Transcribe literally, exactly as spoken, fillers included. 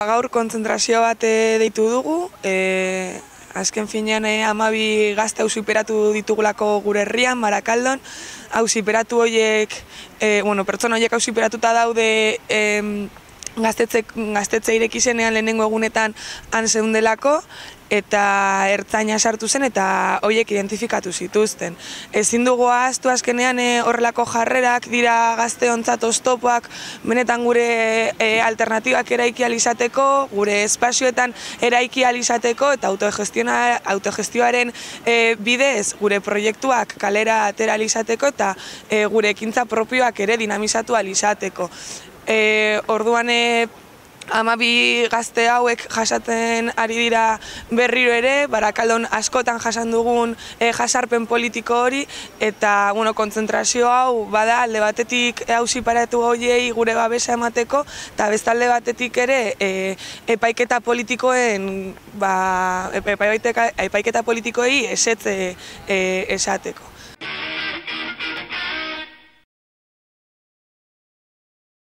Gaur kontzentrazio bat deitu dugu, e, azken finean e, hamabi gazte auziperatu ditugulako gure herrian, Barakaldon. Auziperatu horiek, e, bueno, pertsona horiek auziperatuta daude e, gaztetze, gaztetze ireki zenean lehenengo egunetan han zeundelako, eta ertzaina sartu zen eta horiek identifikatu zituzten. Ezin dugu ahaztu azkenean e, horrelako jarrerak dira gazteontzat oztopoak, benetan gure e, alternatibak eraiki ahal izateko, gure espazioetan eraiki ahal izateko eta autogestioaren e, bidez gure proiektuak kalera atera ahal izateko eta e, gure ekintza propioak ere dinamizatu ahal izateko. E, orduan e, hamabi gazte hauek jasaten ari dira berriro ere, Barakaldon askotan jasan dugun e, jasarpen politiko hori, eta bueno, kontzentrazio hau bada alde batetik auziperatu horiei gure babesa emateko, eta bestalde batetik ere e, epaiketa politikoen, ba, epaiketa politikoei ezetze e, esateko.